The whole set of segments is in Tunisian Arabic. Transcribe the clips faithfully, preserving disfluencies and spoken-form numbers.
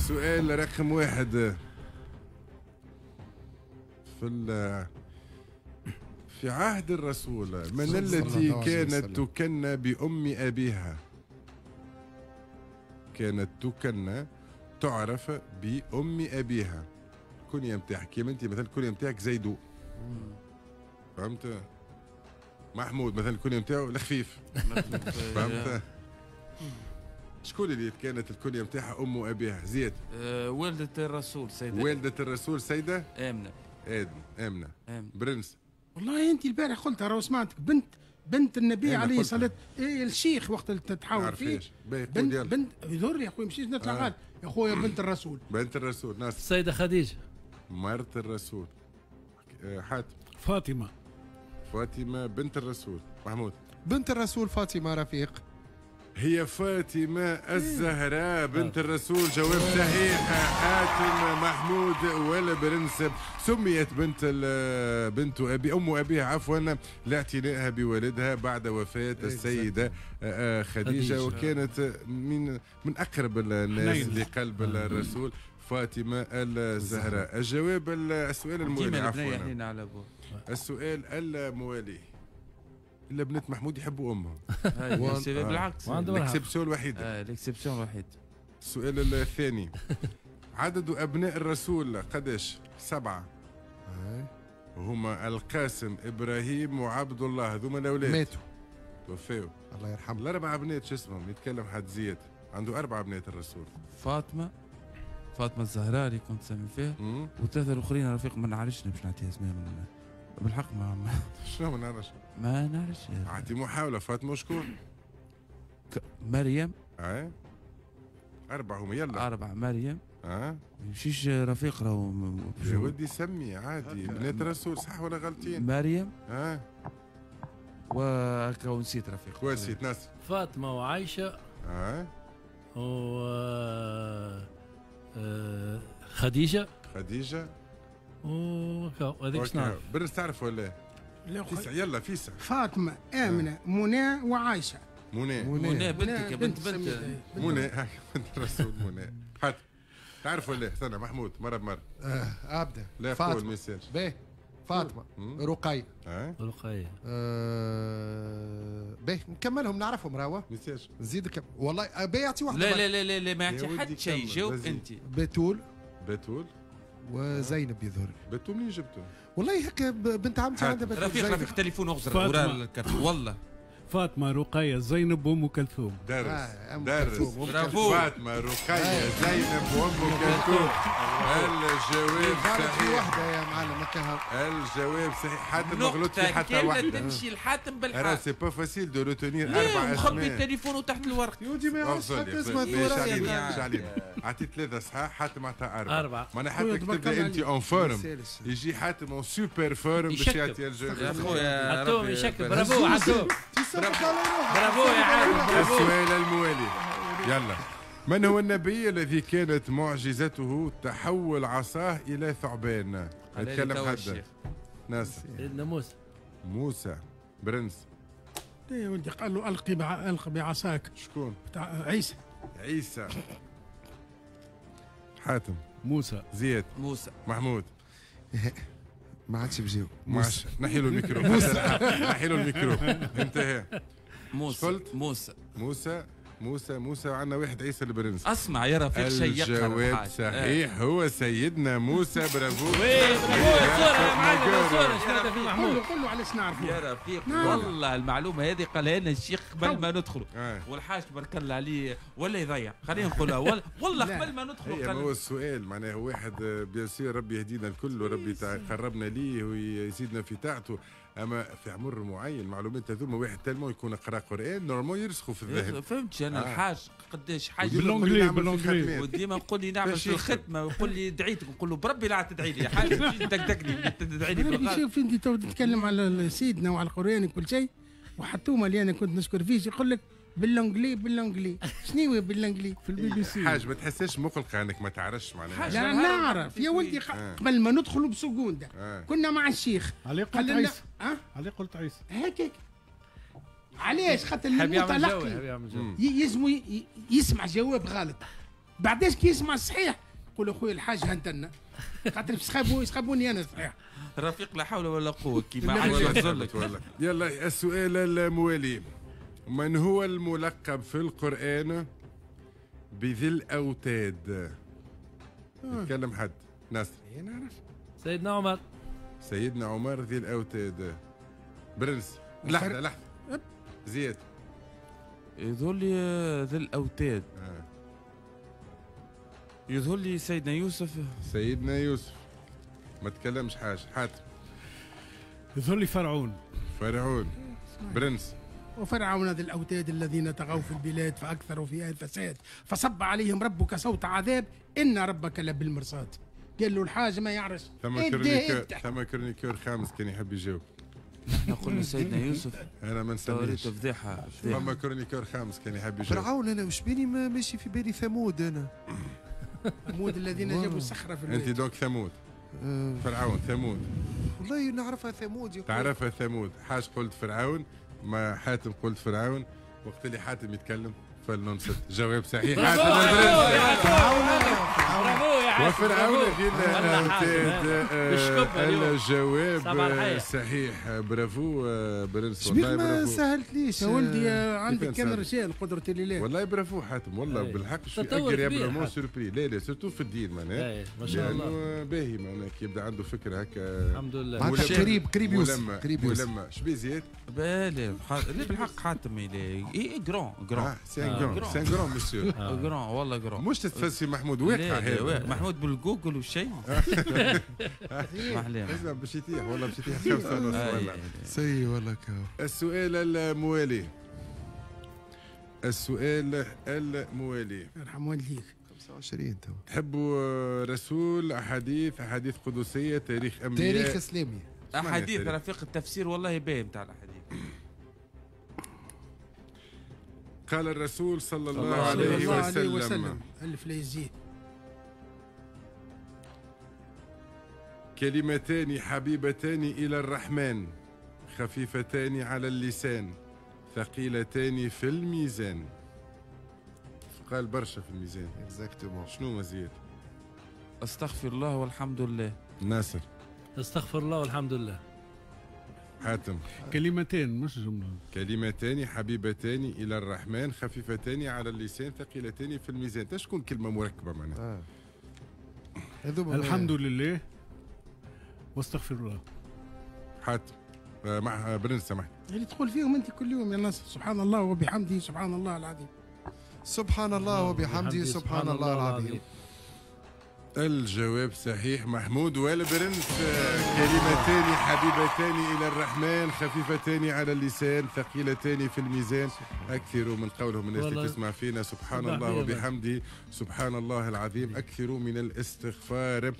السؤال رقم واحد في في عهد الرسول من التي كانت تكنى بأم أبيها؟ كانت تكنى تعرف بأم أبيها. الكنية نتاعك كيما أنت مثلا الكنية نتاعك زيدو، فهمت؟ محمود مثلا الكنية نتاعو الخفيف، فهمت؟ شكون اللي كانت الكنية نتاعها أم أبيها؟ زياد. أه والدة الرسول سيدة. والدة الرسول سيدة آمنة. آدم آمنة. آمنة. برنس. والله أنت البارح قلتها راهو سمعتك، بنت بنت النبي عليه الصلاة إيه الشيخ وقت اللي تتحاور فيه بنت بنت يضر يا خويا مشيش نطلع غالط يا خويا بنت الرسول. بنت الرسول ناس. السيدة خديجة. مرت الرسول. حاتم. فاطمة. فاطمة بنت الرسول. محمود. بنت الرسول فاطمة رفيق. هي فاطمة الزهراء بنت الرسول. جواب صحيح حاتم محمود ولا برنس. سميت بنت بنت أبي أم أبيها عفوا لاعتنائها بوالدها بعد وفاة السيدة خديجة، وكانت من من أقرب الناس لقلب الرسول فاطمة الزهراء. الجواب السؤال الموالي عفوا السؤال الموالي. الا بنات محمود يحبوا امهم. بالعكس l'exception الوحيدة. اه l'exception الوحيدة. السؤال الثاني. عدد ابناء الرسول قداش؟ سبعة. هما القاسم ابراهيم وعبد الله، هذوما الاولاد ماتوا توفاو الله يرحمهم. الاربع بنات شو اسمهم؟ يتكلم حد زياد عنده اربع بنات الرسول. فاطمة فاطمة الزهراء اللي كنت سامي فيها، وثلاثة الاخرين رفيق ما نعرفش باش نعطيها اسماء بالحق ما شنو ما نعرفش؟ ما نعرفش. اعطي محاولة. فاطمة شكون؟ مريم. اه أربعة هما يلا. أربعة مريم. اه ما يمشيش رفيق راهو. يا ودي سمي عادي بنات الرسول صح ولا غلطين؟ مريم. اه وهكا ونسيت رفيق. ونسيت ناس. فاطمة وعائشة. اه و خديجة. خديجة. وهذيك شنو؟ برنس تعرف ولا؟ لا فيسع يلا فيسع. فاطمة آمنة منى وعائشة. منى منى بنتك يا بنت بنت منى بنت الرسول منى. حاتم تعرف ولا؟ استنى محمود مرة بمرة. اه ابدا. لا قول ما يصيرش. باهي فاطمة رقية. اه رقية. آه باهي نكملهم نعرفهم راهو. ما يصيرش. نزيدك والله باهي يعطي واحدة. لا لا لا لا ما يعطي حتى شيء، جاوب انت. بتول. بتول وزينب يظهر لي. بتول منين جبته؟ والله هكا بنت عمتي عندها بتول. رفيق رفيق تليفون اغزر وراء الكرت والله. فاطمة رقية زينب وأم كلثوم. درس آه درس. برافو. فاطمة رقية زينب وأم كلثوم. الجواب صحيح. واحدة يا معلم. الجواب صحيح. حاتم ما غلطش في حتى واحدة. تمشي لحاتم بالحق. راه c'est pas facile de retenir أربع اسماء. مخبي التليفون تحت الورق. يا ودي ما يعرفش حتى اسمها. مش علينا. عطيت ثلاثة صحاح، حاتم عطى أربعة. أربعة. معناها حتى كتب أنت en forme يجي حاتم en super forme باش يعطي الجواب. يا خويا حاتم يشكل. برافو حاتم. برافو يا عالم. السؤال الموالي يلا. من هو النبي الذي كانت معجزته تحول عصاه إلى ثعبان؟ نتكلم حد. ناس. سيدنا موسى. موسى. برنس. يا ولدي قال له ألقي ألقي بعصاك. شكون؟ بتاع عيسى. عيسى. حاتم. موسى. زياد. موسى. محمود. ما عادش بجاوب. ما عادش نحي له الميكرو. نحي له الميكرو. انتهى. موسى. قلت؟ موسى. موسى موسى موسى عندنا واحد عيسى البرنس. اسمع يا رفيق شيء يقرا. الجواب صحيح هو سيدنا موسى. برافو. oui برافو يا صورة يا معلم. صورة شنو في محمود. قول له علاش نعرفوا يا رفيق. والله المعلومة هذه قالها لنا الشيخ قبل ما ندخلوا. والحاج تبارك الله عليه ولا يضيع خلينا نقولها والله قبل ما ندخلوا. قال هو السؤال معناه واحد bien sûr ربي يهدينا الكل وربي يقربنا ليه ويزيدنا في طاعته، اما في عمر معين المعلومات هذوما واحد tellement يكون قرا قران normalement يرسخوا في الذهن. فهمتش انا آه. الحاج قداش حاج بال anglais بال anglais وديما نقول لي نعمل في الختمة ويقول لي دعيتك نقول له بربي لا تدعي لي يا حاج تدقدقني تدعي لي. شوف انت تو تتكلم على سيدنا وعلى القران وكل شيء وحتوما اللي انا كنت نشكر فيه يقول لك بال anglais بال anglais شنو هو بال anglais في البي بي سي. حاج ما تحسش مقلقة انك ما تعرفش معناها. لا نعرف يا ولدي. قبل ما ندخلوا بسكونده آه. كنا مع الشيخ. علي قلت عيسى. أه؟ علي قلت عيسى هكاك. علاش؟ خاطر المتلقي يلزم يسمع جواب غلط. بعداش كي يسمع الصحيح يقول اخويا الحاج هنتنا خاطر يسخابوني يسخابوني انا صحيح. رفيق لا حول ولا قوة كيما عاد يلا السؤال الموالي، من هو الملقب في القرآن بذي الأوتاد؟ يتكلم حد. ناصر. نعرف. سيدنا عمر. سيدنا عمر ذي الأوتاد. برنس. لحظة لحظة. زياد. يظهر لي ذي الأوتاد. آه. يظهر لي سيدنا يوسف. سيدنا يوسف. ما تكلمش حاجة. حاتم. يظهر لي فرعون. فرعون. برنس. وفرعون ذي الأوتاد الذين طغوا في البلاد فأكثروا فيها الفساد فصب عليهم ربك صوت عذاب إن ربك لبالمرصاد. قال له الحاج ما يعرفش. ثم chroniqueur ثم chroniqueur خامس كان يحب يجاوب. نحن قلنا سيدنا يوسف. أنا ما نسميش. فضيحة. ثم chroniqueur خامس كان يحب يجاوب. فرعون أنا وش بيني ماشي في بالي ثمود أنا. ثمود الذين جابوا الصخرة في البلاد. أنت donc ثمود. فرعون ثمود. والله نعرفها ثمود. تعرفها ثمود. حاج قلت فرعون، ما حاتم قلت فرعون. وقت اللي حاتم يتكلم فلننصت. جواب صحيح حاتم. وفرعون في الأوتاد. الجواب صحيح. برافو برنس. والله برافو. ما سهلتليش يا ولدي، عندك كان رجال قدرة الله. والله برافو حاتم، والله بالحق je suis agréablement surpris. لا لا surtout في الدين معناها ما شاء الله باهي معناها كي يبدا عنده فكرة هكا. الحمد لله. قريب قريب يوصل قريب يوصل. شبيه زياد؟ لا لا بالحق حاتم اي grand grand c'est un grand c'est un grand monsieur grand والله grand. مش تتفسي محمود واقع هذا محمود بالجوجل والشيء. ما اسمع باش يطيح والله باش يطيح خمسة ونص والله سي والله كاو. السؤال الموالي، السؤال الموالي يرحم والديك. خمسة وعشرين تو. تحبوا رسول، احاديث، احاديث قدسية، تاريخ انبياء، تاريخ اسلامي، احاديث رفيق التفسير والله باهي نتاع الاحاديث. قال الرسول صلى الله عليه وسلم, وسلم. ألف لا يزيد. كلمتان حبيبتان إلى الرحمن خفيفتان على اللسان ثقيلتان في الميزان. قال برشا في الميزان. exactement. شنو مزيد؟ استغفر الله والحمد لله. ناصر. استغفر الله والحمد لله. حاتم. كلمتين مش جملة. كلمتان حبيبتان إلى الرحمن خفيفتان على اللسان ثقيلتان في الميزان. تشكون كلمة مركبة معناها. آه. الحمد لله واستغفر الله. حاتم مع برنس سامحني. اللي تقول فيهم أنت كل يوم يا ناصر، سبحان الله وبحمده سبحان الله العظيم. سبحان الله وبحمده سبحان الله العظيم. الجواب صحيح محمود والبرنس. كلمتان حبيبتان إلى الرحمن خفيفتان على اللسان ثقيلتان في الميزان. أكثروا من قولهم الناس اللي تسمع فينا سبحان الله وبحمده سبحان الله العظيم. أكثروا من الاستغفار،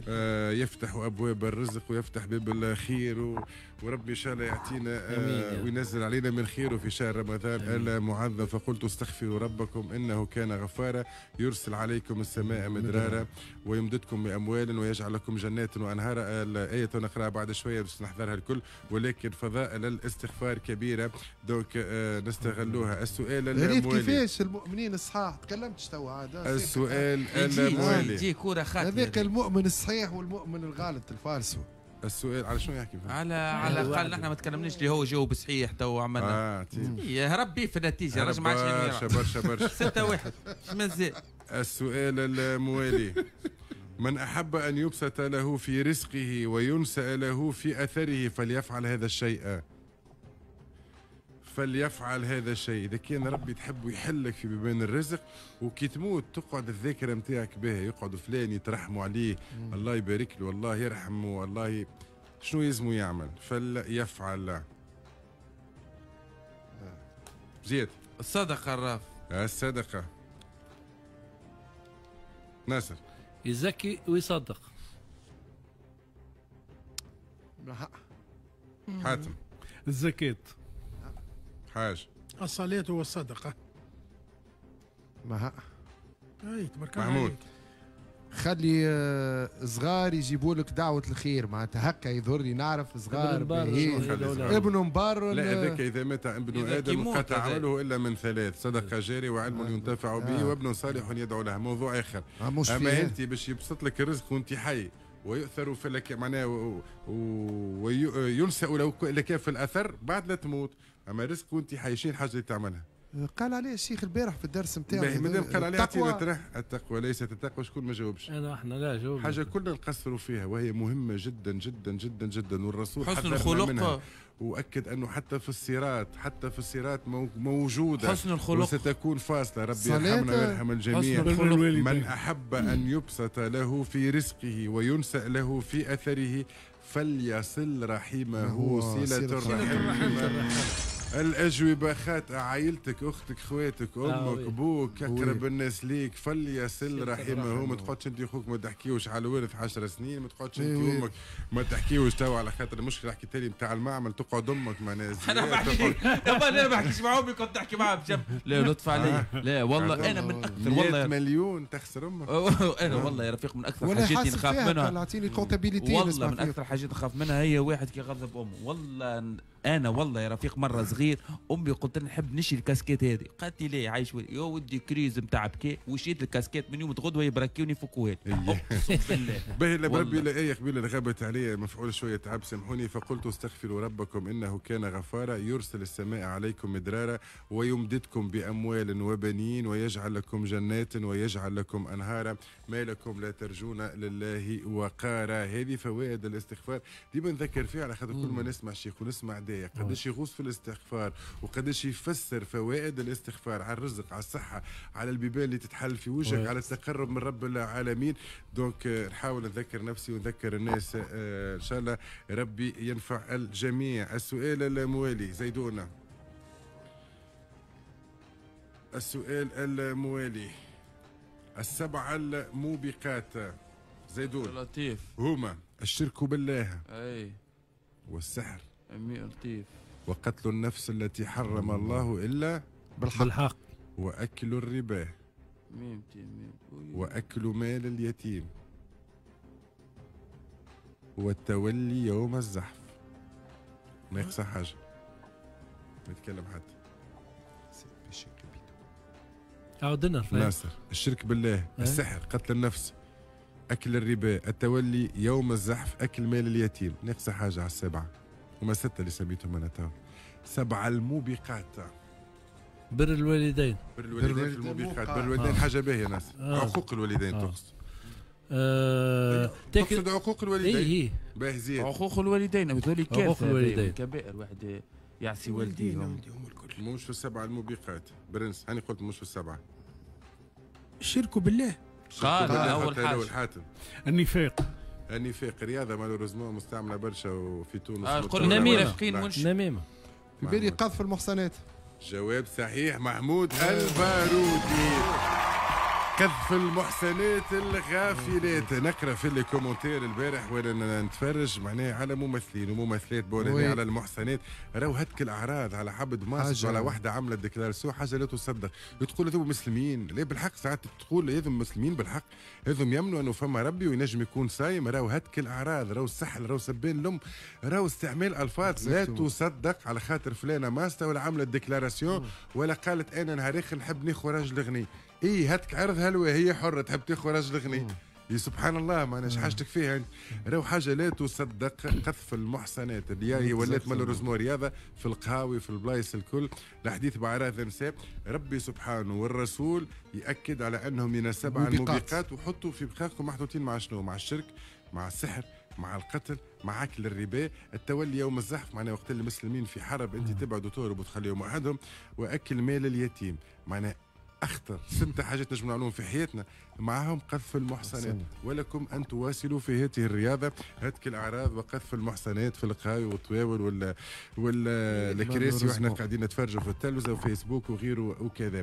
آه يفتح أبواب الرزق ويفتح باب الخير و... وربي إن شاء الله يعطينا آه وينزل علينا من خيره في شهر رمضان المعظم. فقلت استغفروا ربكم إنه كان غفارا يرسل عليكم السماء مدرارا ويمددكم بأموال ويجعل لكم جنات وأنهارا. الآية نقرأها بعد شوية باش نحضرها الكل، ولكن فضائل الاستغفار كبيرة donc آه نستغلوها. السؤال الموالي، كيفاش المؤمنين الصحاح؟ تكلمتش تو عاد. السؤال الموالي يجي كورة خاتمة هذاك المؤمن الصحيح والمؤمن الغالط الفالسو. السؤال على شنو يحكي؟ على على الاقل نحن ما تكلمناش اللي هو جاوب صحيح تو عملنا. آه هرب بيه في النتيجة رجع ما عادش برشا برشا برشا. ستة واحد مازال. السؤال الموالي، من أحب أن يبسط له في رزقه وينسأ له في أثره فليفعل هذا الشيء. فليفعل هذا الشيء. إذا كان ربي تحب يحلك في بيبان الرزق وكي تموت تقعد الذاكرة نتاعك بها، يقعد فلان يترحموا عليه، مم. الله يبارك له، الله يرحمه، الله ي... شنو يلزمه يعمل؟ فليفعل. زيد. الصدقة الراف. الصدقة. ناصر. يزكي ويصدق. حاتم. الزكاة. حاج. الصلاة والصدقة. ما اي تبارك الله. محمود. خلي صغار يجيبوا لك دعوه الخير، معناتها هكا يظهر لي نعرف صغار ابن مبار. لا هذاك اذا مات ابن ادم قطع عمله الا من ثلاث: صدقه جارية وعلم ينتفع به وابن صالح يدعو له. موضوع اخر. اما انت باش يبسط لك الرزق وانت حي ويؤثر في لك معناه وينسأ لك في الاثر بعد لا تموت، اما رزق وانت حي شنو الحاجة اللي تعملها؟ قال عليه الشيخ البارح في الدرس نتاعو. مادام قال عليه اعطينا طرح التقوى ليست التقوى، شكون ما جاوبش؟ انا احنا لا جاوب. حاجة كلنا نقصروا فيها وهي مهمة جدا جدا جدا جدا، والرسول حسن الخلق، واكد انه حتى في الصراط، حتى في الصراط موجودة حسن الخلق، وستكون فاصلة. ربي يرحمنا ويرحم الجميع. من احب ان يبسط له في رزقه وينسأ له في اثره فليصل رحمه صله الرحم. الأجوبة خاطئة. عائلتك، أختك، خواتك، أمك، أبوك، أقرب الناس ليك، فليصل رحمه. ما تقعدش أنت أخوك ما تحكيوش على الورث عشر سنين، ما تقعدش أنت وأمك ما تحكيوش توا على خاطر المشكلة حكيت لي نتاع المعمل، تقعد أمك معناها. أنا ما بحكيش، أنا ما بحكيش مع أمي، كنت تحكي معها بجنب. لا لطف علي، لا والله أنا من أكثر والله مليون تخسر أمك. أنا والله يا رفيق من أكثر حاجات اللي نخاف منها، والله من أكثر حاجات نخاف منها هي واحد كي يغضب أمه. والله انا والله يا رفيق مرة صغير امي قلت لها نحب نشري الكاسكيت هذه، قالت لي ليه عايش يا ودي crise نتاع بكي، وشريت الكاسكيت من يوم غدوه يبركيوني يفكوها لي اقسم بالله. باهي بربي لا ايه قبيلة غابت علي مفعول شوية تعب سامحوني. فقلت استغفروا ربكم انه كان غفارا يرسل السماء عليكم مدرارا ويمددكم باموال وبنين ويجعل لكم جنات ويجعل لكم انهارا ما لكم لا ترجون لله وقارا. هذه فوائد الاستغفار ديما نذكر فيها على خاطر كل ما نسمع شيخ ونسمع داية قداش يغوص في الاستغفار وقداش يفسر فوائد الاستغفار على الرزق، على الصحة، على البيبان اللي تتحل في وجهك، على التقرب من رب العالمين. donc نحاول نذكر نفسي ونذكر الناس، ان شاء الله ربي ينفع الجميع. السؤال الموالي زيدونا، السؤال الموالي السبعة الموبقات زيدون لطيف هما الشرك بالله، اي، والسحر، لطيف، وقتل النفس التي حرم الله إلا بالحق, بالحق. وأكل الربا، وأكل مال اليتيم، والتولي يوم الزحف. ما يخسر حاجة، ما يتكلم حد. عاودنا ناصر. الشرك بالله، السحر، قتل النفس، أكل الربا، التولي يوم الزحف، أكل مال اليتيم. ناقصة حاجة على السبعة، هما ستة اللي سميتهم أنا تو. سبعة الموبقات. بر الوالدين. بر الوالدين في الموبقات. بر الوالدين حاجة باهية ناس. آه. عقوق الوالدين آه. تقصد. آه. تقصد عقوق الوالدين. إيه. باهي زياد. عقوق الوالدين هذول كارثة. الوالدين كبائر، واحد يعصي والديه. مش في السبعة الموبقات برنس، هاني قلت مش في السبعة. الشرك بالله. قال أول حاجة. النفاق. النفاق رياضة malheureusement مستعملة برشا وفي تونس. آه قلنا نميمة. نميمة. في بالي قذف المحصنات. جواب صحيح محمود البارودي. قذف المحسنات الغافلات. نقرا في les commentaires البارح وانا نتفرج معناها على ممثلين وممثلات بولاني على المحسنات، راهو هتك الاعراض على عبد ماسك على واحدة عملت déclaration حاجة لا تصدق. تقول هذو مسلمين، لا بالحق ساعات تقول هذو مسلمين بالحق، هذو يمنوا انه فما ربي وينجم يكون صايم. راهو هتك الاعراض، راهو السحل، راهو سبان الام، راهو استعمال الفاظ لا تصدق على خاطر فلانه ماسته ولا عملت déclaration ولا قالت انا نهار اخر نحب ناخذ راجل غني. ايه هاتك عرضها هي حره تحب تاخذ راجل غني. يا سبحان الله ما اناش حاجتك فيها انت. راهو حاجة لا تصدق قذف المحصنات اللي هي ولات malheureusement رياضة في القهاوي في البلايص الكل. الحديث باعراض النساء، ربي سبحانه والرسول ياكد على انهم من السبع الموبقات، وحطوا في بخاخكم محطوطين مع شنو؟ مع الشرك، مع السحر، مع القتل، مع اكل الربا، التولي يوم الزحف معناها وقت المسلمين في حرب انت تبعد وتهرب وتخليهم وحدهم، واكل مال اليتيم. معناها اخطر ست حاجات نجم نعملوهم في حياتنا معهم قذف المحصنات. ولكم ان تواصلوا في هذه الرياضة هتك الاعراض وقذف المحصنات في القهاوي والطواول ولا ولا الكراسي واحنا قاعدين نتفرجوا في التلفزة وفيسبوك وغيره وكذا.